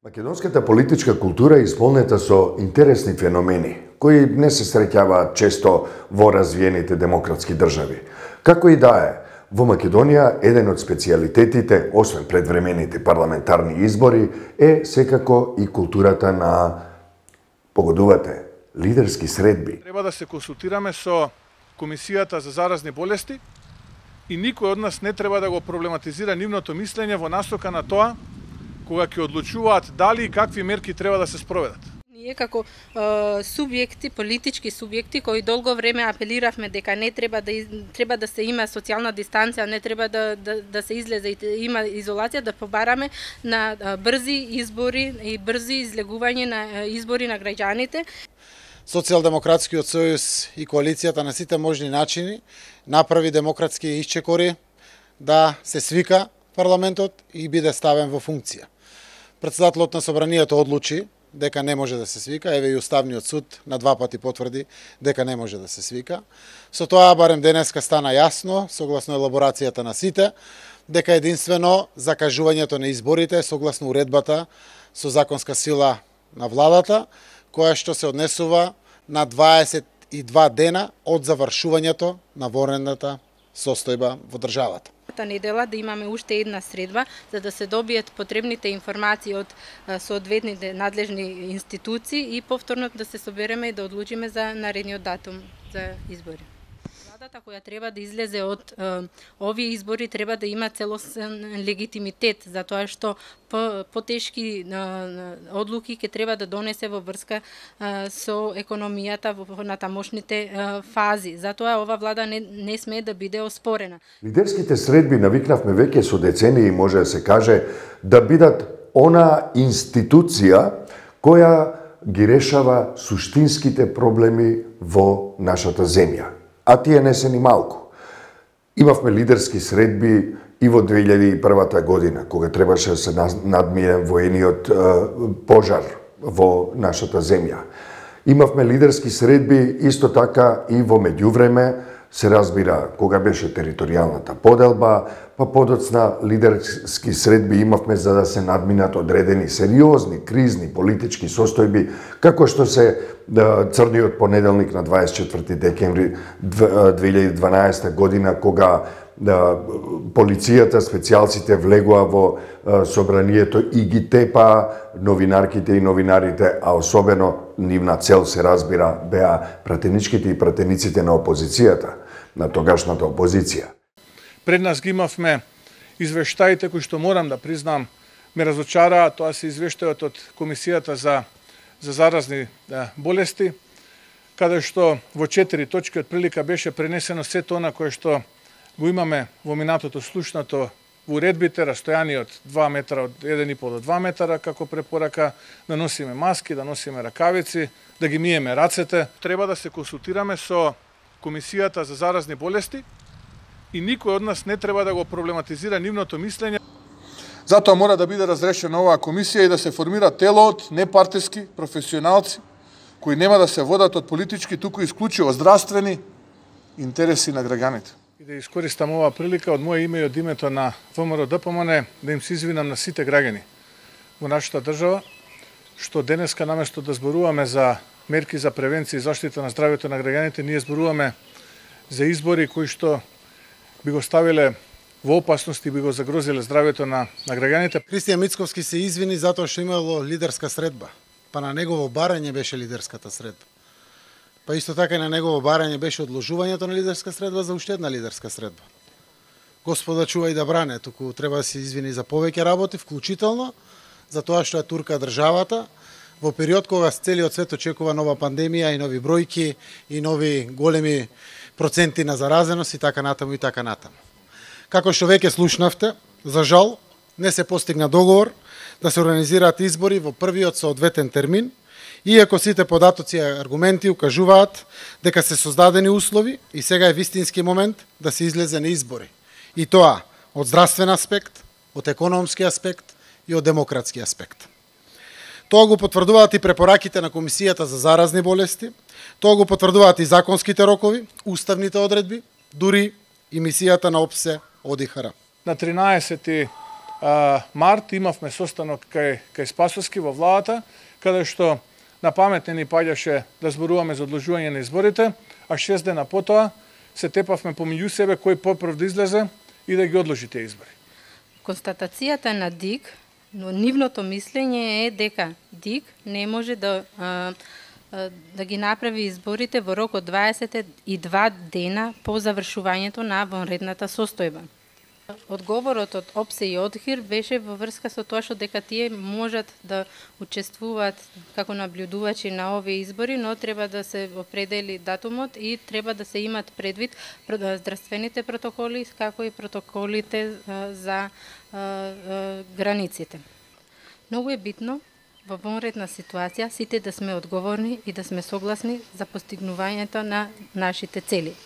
Македонската политичка култура е исполнета со интересни феномени, кои не се среќаваат често во развиените демократски држави. Како и да е, во Македонија еден од специјалитетите, освен предвремените парламентарни избори, е секако и културата на, погодувате, лидерски средби. Треба да се консултираме со Комисијата за заразни болести и никој од нас не треба да го проблематизира нивното мислење во насока на тоа кога ќе одлучуваат дали и какви мерки треба да се спроведат. Ние како субјекти, политички субјекти кои долго време апелиравме дека не треба да се има социјална дистанција, не треба да се излезе и има изолација, да побараме на брзи избори и брзи излегување на избори на граѓаните. Социјалдемократскиот сојуз и коалицијата на сите можни начини направи демократски исчекори да се свика парламентот и биде ставен во функција. Претседателот на собранието одлучи дека не може да се свика, еве и Уставниот суд на 2 пати потврди дека не може да се свика. Со тоа барем денеска стана јасно, согласно елаборацијата на сите, дека единствено закажувањето на изборите согласно уредбата со законска сила на владата, која што се однесува на 22 дена од завршувањето на вонредната состојба во државата. Та недела да имаме уште една средба за да се добијат потребните информации од соодветните надлежни институции и повторно да се собереме и да одлучиме за наредниот датум за избори. Владата која треба да излезе од овие избори треба да има целосен легитимитет, затоа што потешки одлуки ќе треба да донесе во врска со економијата во натамошните фази. Затоа ова влада не смее да биде оспорена. Лидерските средби навикнавме веќе со децении, може да се каже, да бидат она институција која ги решава суштинските проблеми во нашата земја. А тие не се ни малку. Имавме лидерски средби и во 2001 година, кога требаше да се надмие воениот пожар во нашата земја. Имавме лидерски средби исто така и во меѓувреме, се разбира, кога беше територијалната поделба, па подоцна лидерски средби имавме за да се надминат одредени сериозни, кризни политички состојби, како што се црниот понеделник на 24 декември 2012 година, кога полицијата, специјалците влегоа во собранието и ги тепа новинарките и новинарите, а особено нивна цел се разбира беа пратеничките и пратениците на опозицијата, на тогашната опозиција. Пред нас ги имавме извештаите кои што морам да признам ме разочараа, тоа се извештајот од Комисијата за заразни болести, каде што во 4 точки од прилика беше пренесено сето она кое што го имаме во минатото слушнато во уредбите, растојание од 2 метра, од 1,5 до 2 метра, како препорака, да носиме маски, да носиме ракавици, да ги миеме рацете. Треба да се консултираме со Комисијата за заразни болести и никој од нас не треба да го проблематизира нивното мислење. Затоа мора да биде разрешена оваа комисија и да се формира тело од непартиски професионалци кои нема да се водат од политички, туку исклучиво здравствени интереси на граѓаните. И да искористам оваа прилика од моје име и од името на ВМРО-ДПМН да им се извинам на сите граѓани во нашата држава, што денеска наместо да зборуваме за мерки за превенција и заштита на здравјето на граѓаните, ние зборуваме за избори кои што би го ставиле во опасност и би го загрозиле здравјето на граѓаните. Христијан Мицковски се извини затоа што имало лидерска средба. Па на негово барање беше лидерската средба. Па исто така и на негово барање беше одложувањето на лидерска средба за уште една лидерска средба. Господа чува и да бране, туку треба да се извини за повеќе работи, вклучително за тоа што ја турка државата во период кога целиот свет очекува нова пандемија и нови бројки и нови големи проценти на заразеност и така натаму и така натаму. Како што веќе слушнавте, за жал не се постигна договор да се организираат избори во првиот соодветен термин, иако сите податоци и аргументи укажуваат дека се создадени услови и сега е вистински момент да се излезе на избори. И тоа од здравствен аспект, од економски аспект и од демократски аспект. Тоа го потврдуваат и препораките на Комисијата за заразни болести, тоа го потврдуваат и законските рокови, уставните одредби, дури и мисијата на ОПСЕ ОДИХР. На 13 март имавме состанок кај Спасовски во владата, каде што на памет не ни паѓаше да зборуваме за одложување на изборите, а 6 дена потоа се тепавме помеѓу себе кој попрв да излезе и да ги одложи тие избори. Констатацијата на ДИК, но нивното мислење е дека ДИК не може да ги направи изборите во рок од 22 дена по завршувањето на вонредната состојба. Одговорот од ОПСЕ и ОДХИР беше во врска со тоа што дека тие можат да учествуваат како наблюдувачи на овие избори, но треба да се определи датумот и треба да се имат предвид здравствените протоколи, како и протоколите за границите. Многу е битно во вонредна ситуација сите да сме одговорни и да сме согласни за постигнувањето на нашите цели.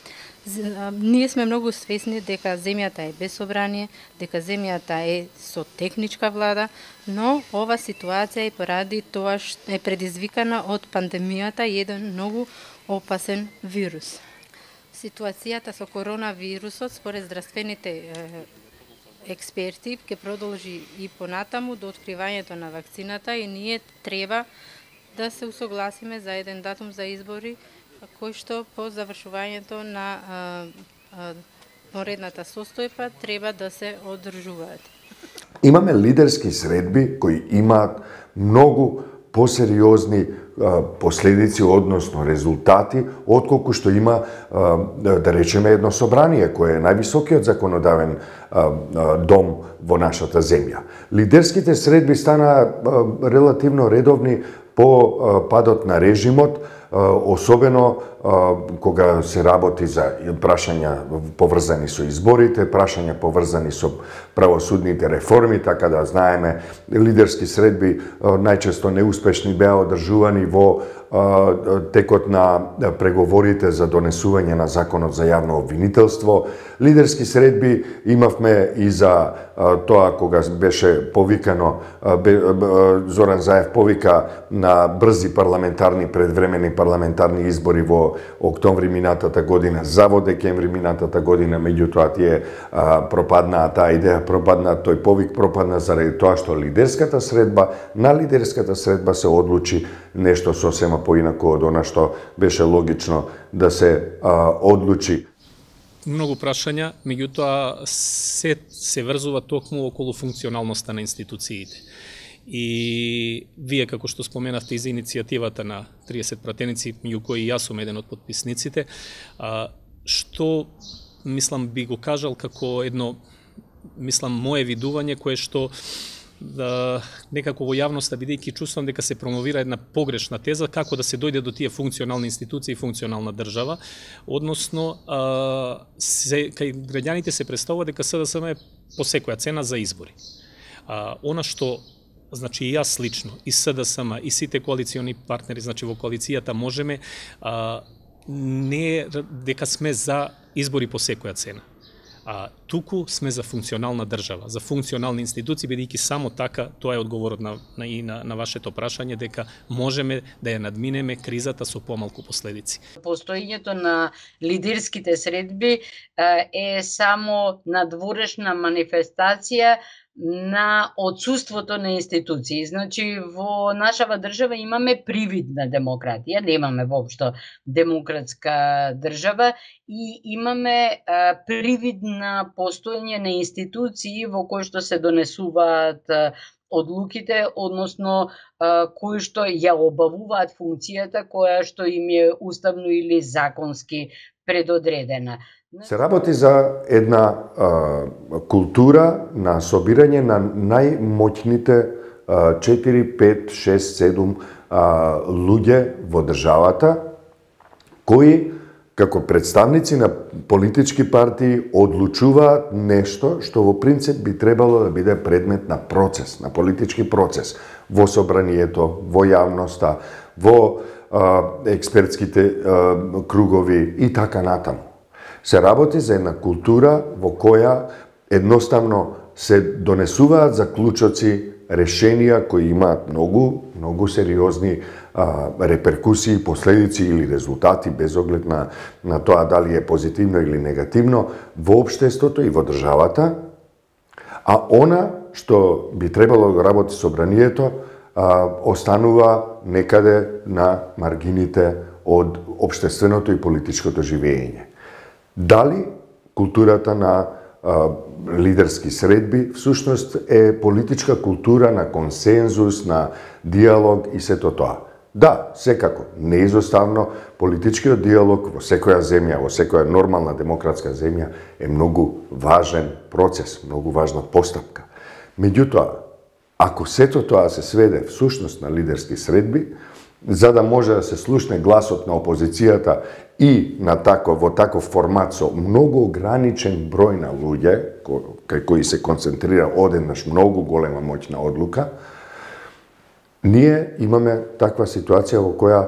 Ние сме многу свесни дека земјата е без собрание, дека земјата е со техничка влада, но ова ситуација е поради тоа што е предизвикана од пандемијата и еден многу опасен вирус. Ситуацијата со коронавирусот според здравствените експерти ќе продолжи и понатаму до откривањето на вакцината и ние треба да се усогласиме за еден датум за избори кој што по завршувањето на вонредната состојба треба да се одржуваат. Имаме лидерски средби кои имаат многу посериозни последици, односно резултати, отколку што има, да речеме, едно собрание, кое е највисокиот законодавен дом во нашата земја. Лидерските средби стана релативно редовни по падот на режимот, особено кога се работи за прашања поврзани со изборите, прашања поврзани со правосудните реформи, така да знаеме, лидерски средби најчесто неуспешни беа одржувани во текот на преговорите за донесување на законот за јавно обвинителство. Лидерски средби имавме и за тоа кога беше повикано, Зоран Заев повика на брзи предвремени парламентарни избори во октомври минатата година, за во декември минатата година, меѓутоа тие пропаднаа, таа идеја пропадна, тој повик пропадна заради тоа што лидерската средба се одлучи нешто сосема поинако од она што беше логично да се одлучи. Многу прашања, меѓутоа се врзува токму околу функционалноста на институциите. И вие, како што споменавте и за иницијативата на 30 пратеници, меѓу кои јас сум еден од потписниците, што, мислам, би го кажал како едно, мое видување, кое што некако во јавноста, бидејќи чувствам дека се промовира една погрешна теза како да се дојде до тие функционални институции и функционална држава, односно кај граѓаните се представува дека СДСМ е по секоја цена за избори. Она што, значи и јас лично, и СДСМ, и сите коалициони партнери, значи во коалицијата можеме, не дека сме за избори по секоја цена. Туку сме за функционална држава, за функционални институции, бидејќи само така, тоа е одговорот на вашето прашање, дека можеме да ја надминеме кризата со помалку последици. Постоењето на лидерските средби е само надворешна манифестација на отсуството на институции. Значи, во нашава држава имаме привид на демократија, немаме воопшто демократска држава и имаме привид на постоење на институции во кои што се донесуваат одлуките, односно кои што ја обавуваат функцијата која што им е уставно или законски предодредена. Се работи за една култура на собирање на најмоќните 4, 5, 6, 7 луѓе во државата, кои, како представници на политички партии, одлучуваат нешто што во принцип би требало да биде предмет на процес, на политички процес, во собранието, во јавноста, во експертските кругови и така натаму. Се работи за една култура во која едноставно се донесуваат заклучоци, решенија кои имаат многу сериозни реперкусии, последици или резултати, без оглед на тоа дали е позитивно или негативно во општеството и во државата, а она што би требало да работи собранието, останува некаде на маргините од општественото и политичкото живење. Дали културата на лидерски средби всушност е политичка култура на консензус, на диалог и сето тоа? Да, секако, неизоставно, политичкиот диалог во секоја земја, во секоја нормална демократска земја е многу важен процес, многу важна постапка. Меѓутоа, ако сето тоа се сведе всушност на лидерски средби, за да може да се слушне гласот на опозицијата и во таков формат со многу ограничен број на луѓе, кај кои се концентрира одеднаш многу голема моќна одлука, ние имаме таква ситуација во која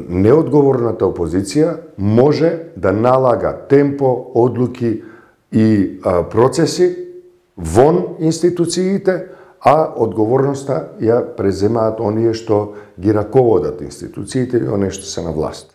неодговорната опозиција може да налага темпо, одлуки и процеси вон институциите, а одговорноста ја преземаат оние што ги раководат институциите и оние што се на власт.